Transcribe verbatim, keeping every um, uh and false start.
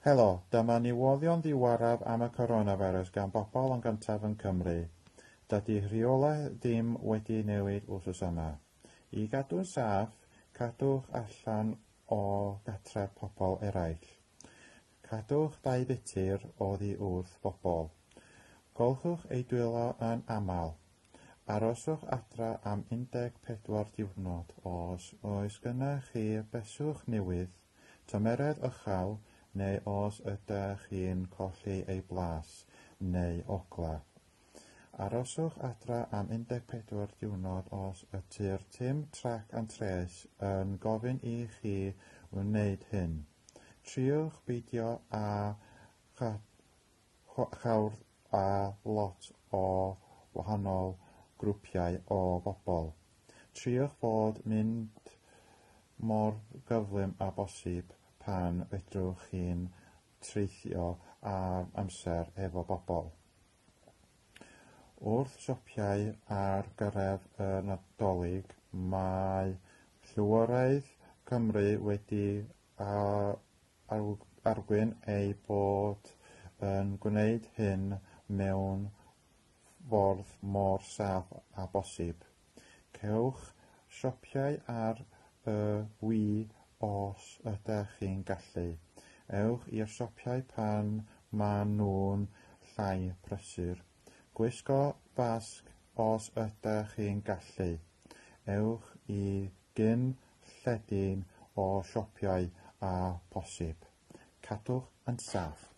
Helo, dyma newyddion ddiweddaraf am y coronavirus gan bobl yn gyntaf yn Cymru. Dydy rheolau ddim wedi newid wythnos yma. I gadw'n saff, cadwch allan o gartref pobl eraill. Cadwch dau fetr oddi wrth bobl. Golchwch eu dwylo yn aml. Arhoswch adra am un deg pedwar diwrnod os oes gennych chi beswch newydd, tymheredd uchel, neu os ydych chi'n colli ei blas neu ogla. Arhoswch adra am un deg pedwar diwrnod os ydy'r tîm Track and Trace yn gofyn i chi wneud hyn. Triwch beidio â chwrdd â lot o wahanol grwpiau o bobl. Triwch fod mynd mor gyflym â bosib pan fedrwch chi'n treulio amser efo bobl. Wrth siopio ar gyfer y Nadolig, mae Llywodraeth Cymru wedi arwain ei bod yn gwneud hyn mewn ffordd mor saff â bosib. Cewch siopio ar y we os ydych chi'n gallu. Ewch i'r siopau pan maen nhw'n llai prysur. Gwisgo fasg os ydych chi'n gallu. Ewch i gyn lleied o siopau â phosib. Cadwch yn saff.